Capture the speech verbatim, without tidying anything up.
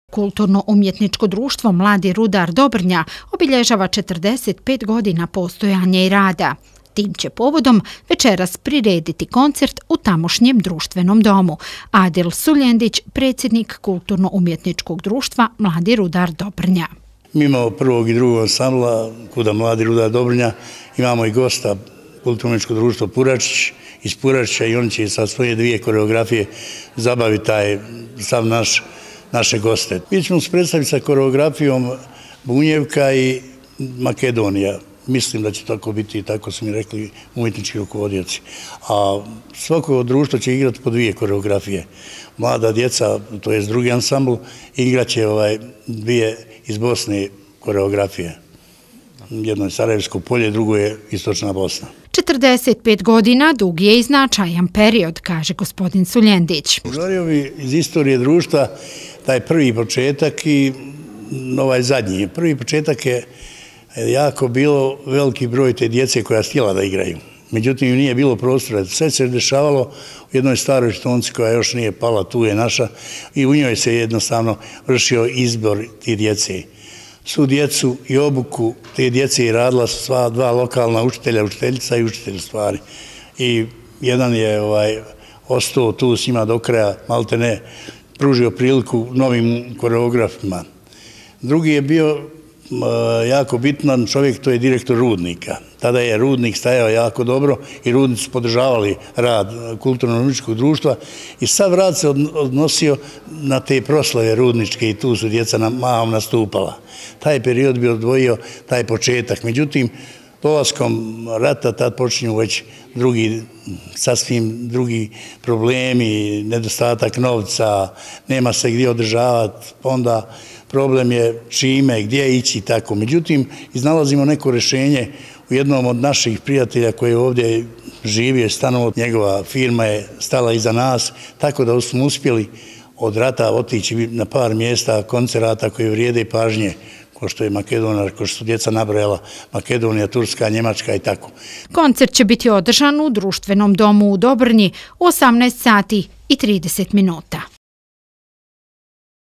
Kulturno-umjetničko društvo Mladi rudar Dobrnja obilježava četrdeset pet godina postojanja i rada. Tim će povodom večeras prirediti koncert u tamošnjem društvenom domu. Adil Suljendić, predsjednik Kulturno-umjetničkog društva Mladi rudar Dobrnja. Mi imamo prvog i drugog ansambla kuda Mladi rudar Dobrnja, imamo i gosta Kulturno-umjetničko društvo Puračić iz Puračića i oni će sa svoje dvije koreografije zabaviti taj sav naš naše goste. Mi ćemo se predstaviti sa koreografijom Bunjevka i Makedonija. Mislim da će tako biti i tako su mi rekli umjetnički rukovodioci. A svako društvo će igrati po dvije koreografije. Mlada djeca, to je drugi ansambl, igraće ovaj dvije iz Bosne koreografije. Jedno je Sarajevsko polje, drugo je Istočna Bosna. četrdeset pet godina dug je i značajan period, kaže gospodin Suljendić. Govorio bi iz istorije društva taj prvi početak i ovaj zadnji. Prvi početak je jako bilo veliki broj te djece koja je htjela da igraju. Međutim, nije bilo prostora. Sve se dešavalo u jednoj staroj Štonci koja još nije pala, tu je naša, i u njoj se jednostavno vršio izbor ti djece. Svu djecu i obuku te djece i radila su sva dva lokalna učitelja, učiteljica i učitelj stvari. I jedan je ovaj, ostao tu s njima do kraja, malte ne, pružio priliku novim koreografima. Drugi je bio jako bitan čovjek, to je direktor Rudnika. Tada je Rudnik stajao jako dobro i Rudnici su podržavali rad Kulturno-umjetničkog društva i sav rad se odnosio na te proslave rudničke i tu su djeca mahom nastupala. Taj period bi odvojio taj početak. Međutim, dolaskom rata tad počinju već drugi, sasvim drugi problemi, nedostatak novca, nema se gdje održavati, onda problem je čime, gdje ići i tako. Međutim, iznalazimo neko rješenje u jednom od naših prijatelja koji ovdje živi, stanovo, njegova firma je stala iza nas, tako da smo uspjeli od rata otići na par mjesta koncerata koji vrijede pažnje, ko što je Makedonija, ko što su djeca nabrojala, Makedonija, Turska, Njemačka i tako. Koncert će biti održan u društvenom domu u Dobrnji u osamnaest sati i trideset minuta.